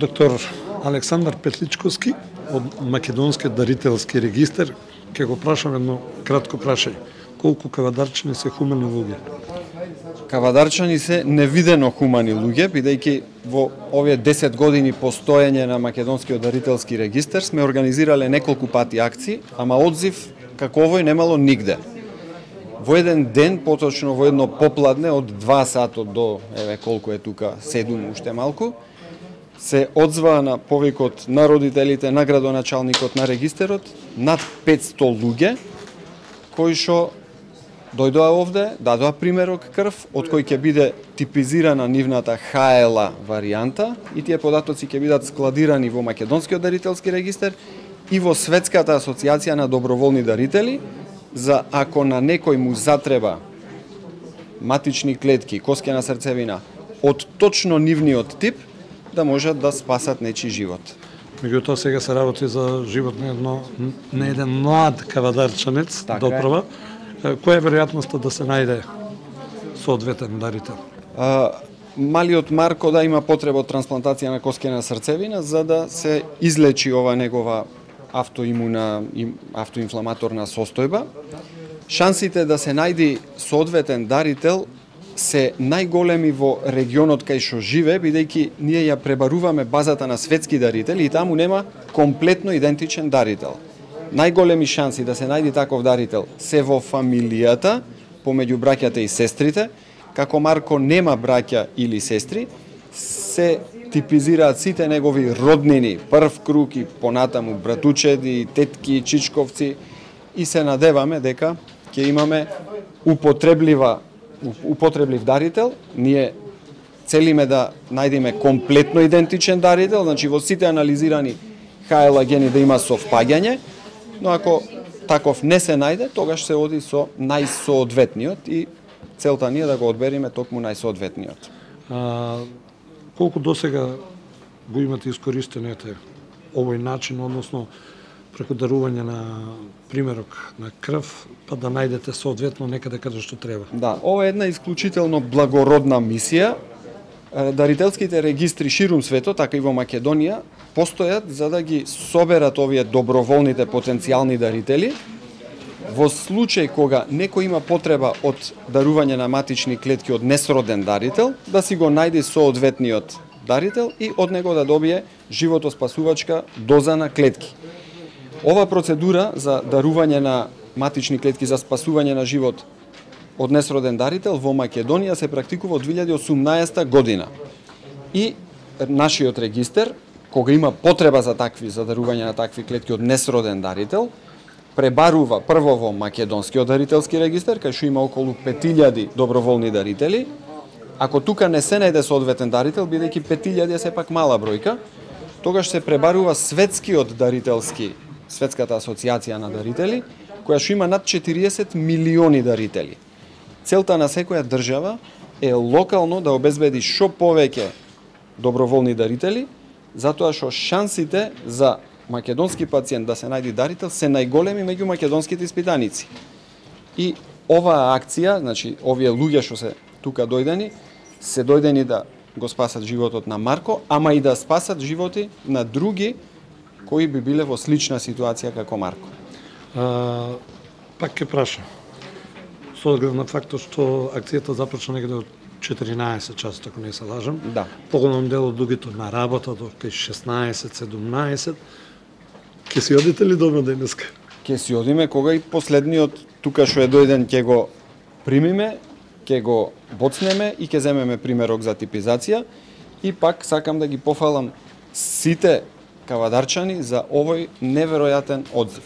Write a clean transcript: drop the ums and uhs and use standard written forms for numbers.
Доктор Александар Петличковски од Македонскиот дарителски регистар, ќе го прашам едно кратко прашање. Колку кавадарчани се хумани луѓе? Кавадарчани се невидено хумани луѓе, бидејќи во овие 10 години постоење на Македонскиот дарителски регистар сме организирале неколку пати акции, ама одзив како овој немало нигде. Во еден ден, поточно во едно попладне од 2 сата до колку е тука 7 уште малку, се одзваа на повикот на родителите, на градоначалникот на регистерот над 500 луѓе кои што дојдоа овде, дадоа примерок крв, од кој ќе биде типизирана нивната ХЛА варијанта и тие податоци ќе бидат складирани во Македонскиот дарителски регистар и во Светската асоциација на доброволни дарители, за ако на некој му затреба матични клетки, коскена срцевина од точно нивниот тип, да можат да спасат нечи живот. Меѓутоа сега се работи за живот на еден млад кавадарчанец, доправа. Која е веројатноста да се најде соодветен дарител? Малиот Марко да има потреба од трансплантација на коскена срцевина за да се излечи ова негова автоинфламаторна состојба. Шансите да се најди соодветен дарител се најголеми во регионот кај што живе, бидејќи ние ја пребаруваме базата на светски дарители и таму нема комплетно идентичен дарител. Најголеми шанси да се најди таков дарител се во фамилијата, помеѓу браќата и сестрите. Како Марко нема браќа или сестри, се типизираат сите негови роднини, прв круг и понатаму братучеди, тетки, чичковци и се надеваме дека ќе имаме употреблив дарител. Ние целиме да најдеме комплетно идентичен дарител, значи во сите анализирани ХЛА гени да има совпаѓање, но ако таков не се најде, тогаш се оди со најсоодветниот и целта ни е да го одбериме токму најсоодветниот. Колку досега го имате искористенете овој начин, односно преку дарување на примерок на крв, па да најдете соодветно некаде каде што треба? Да, ова е една исклучително благородна мисија. Дарителските регистри ширум светот, така и во Македонија, постојат за да ги соберат овие доброволните потенцијални дарители. Во случај кога некој има потреба од дарување на матични клетки од несроден дарител, да си го најде соодветниот дарител и од него да добие животоспасувачка доза на клетки. Ова процедура за дарување на матични клетки за спасување на живот од несроден дарител во Македонија се практикува од 2018 година. И нашиот регистер, кога има потреба за дарување на такви клетки од несроден дарител, пребарува прво во Македонскиот дарителски регистер, кај што има околу 5000 доброволни дарители. Ако тука не се најде соодветен дарител, бидејќи 5000 е сепак мала бројка, тогаш се пребарува Светскиот дарителски, Светската асоциација на дарители, која што има над 40 милиони дарители. Целта на секоја држава е локално да обезбеди што повеќе доброволни дарители, затоа што шансите за македонски пациент да се најди дарител се најголеми меѓу македонските испитаници. И оваа акција, значи овие луѓе што се тука дојдени, се дојдени да го спасат животот на Марко, ама и да спасат животи на други кои би биле во слична ситуација како Марко. Пак ќе прашам. Со оглед на фактот што акцијата започна негде од 14 часа, ако не се лажам. Да. Поголем дел од луѓето на работа до 16-17. Ке си одите ли дома денеска? Ке си одиме кога и последниот тука што е дојден ќе го примиме, ќе го боцнеме и ќе земеме примерок за типизација. И пак сакам да ги пофалам сите кавадарчани за овој неверојатен одзив.